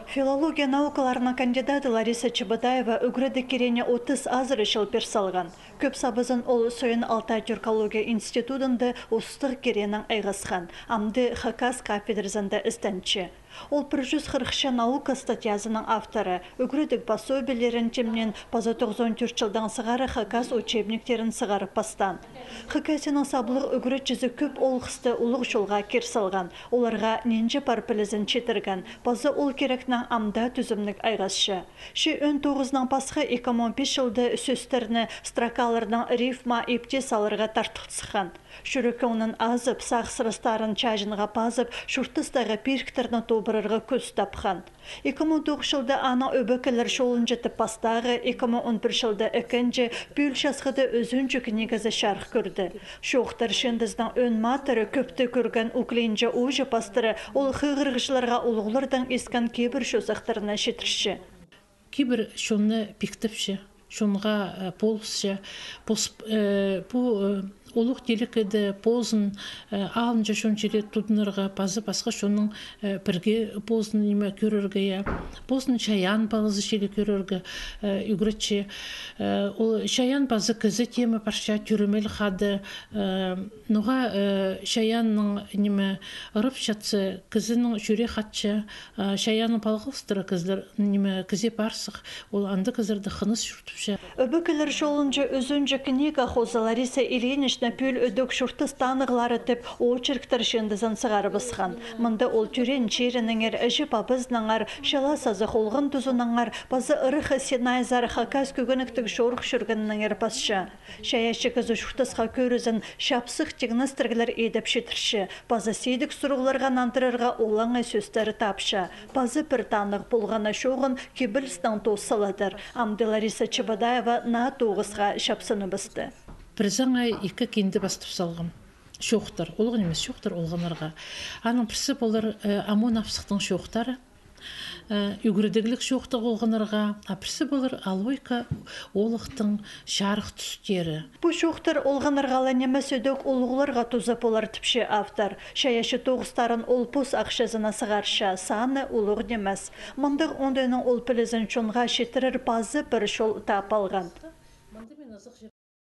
Филология наукаларына кандидаты Лариса Чебатаева үгреді керене 30 азыр ешіл персалған. Көп сабызын ол Сойын Алтай Тюркология институтында ұстық керенің айғасқан. Амды Хакас кафедрасында істенчі. Ол 140 наука статьязының авторы. Үгредік пособиелерін темнен паза 94 жылдан сығары Хакас учебниктерін сығарып пастан. Хакасының саблық үгрет жүзі көп олғысты ұлық жолға керсалған. Оларға ненже парпілізін четірген. Паза ол керекнің амда түзімлік айғасшы. Ши 19-нан пасқы 2005 жылды сөстеріні стракаларының рифма епте салырға тартықтысқан. Шүрікі оның азып, сағсырыстарын чажынға пазып, шүртістағы перктеріні тобырырға көз тапқан. 2009 жылда ана өбекелер шолын жетіп пастағы, 2011 жылда әкенже бөлшасқыды өзінчі книгазы шарқ көрді. Шоқтар шендіздің өн матыры көпті көрген уклейінже ойжы пастыры ол қығырғышыларға олғылырдан ескен кейбір шосақтарына шетірші. Кейбір шоны піктіпші, шонға полысшы, олық делікеді позын алынжа шон жере тұдынырға пазы басқа шоның бірге позын неме көрірге, позын шаян балызы шелі көрірге үгіретші. Шаян базы кізі темі парша түрімел қады, нұға шаянның неме ұрып шатсы, кізінің жүре қатшы, шаянның балғылыстыры кізлер неме кізе барсық, ол анды кізірді қыныз жүртіпші. Өбекелер жолынжы өзінжі книга хоза Лариса Ильинична пүл өдік шұрты станығлары тіп очерктер шендізін сығары бысқан. Мұнда ол түрен череніңер, әжі пабызнаңар, шала сазы қолғын тұзынаңар, базы ұрықы сенайзар хакас көгініктік шорық шүргініңер пасшы. Шаяшы кізі шұртысқа көрізін шапсық тегіністіргілер едіп шетірші. Базы сейдік сұрғыларға нантырырға олаңы сөстері тапшы. Базы бір таңық болғаны шоғын кебілістің тоссаладыр. Амды Лариса Чебатаева на тоғысға шапсыны бісті. Бір заңай екі кенді бастып салғым. Шоқтар, олғын емес шоқтар олғанарға. Аның бірсі болар амон апсықтың шоқтары, үгірдігілік шоқтық олғанарға, бірсі болар алойка олықтың жарық түстері. Бұ шоқтар олғанырғалы немес өдік олғыларға тұзап олар тіпші автор. Шаяшы тоғыстарын олпус ақшазына сығарша, саны олғын немес. Мұндық ондайының ол пілізін чонға шетірір базы бір шол тап алған.